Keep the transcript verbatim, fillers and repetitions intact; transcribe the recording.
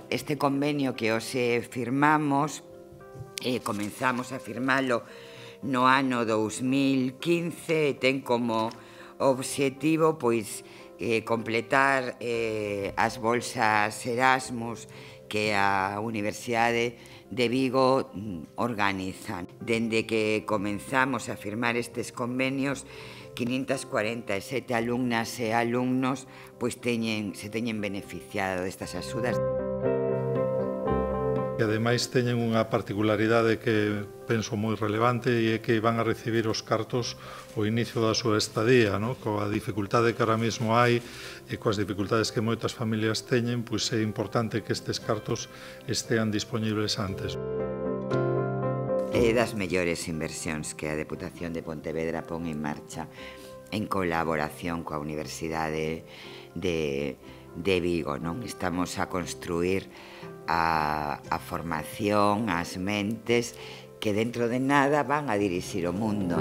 Este convenio que hoxe firmamos, eh, comenzamos a firmalo no ano dous mil quince e ten como obxectivo pois, eh, completar eh, as bolsas Erasmus que a Universidade de Vigo organizan. Dende que comenzamos a firmar estes convenios, quinientas cuarenta e sete alumnas e alumnos pois teñen, se teñen beneficiado destas axudas. E ademais teñen unha particularidade que penso moi relevante e é que van a recibir os cartos ao inicio da súa estadía, no? Coa dificultade que ahora mesmo hai e coas dificultades que moitas familias teñen, pois é importante que estes cartos estean disponibles antes. É das mellores inversións que a Deputación de Pontevedra pon en marcha en colaboración coa Universidade de, de Vigo, non? Estamos a construir a, a formación, as mentes que dentro de nada van a dirixir o mundo.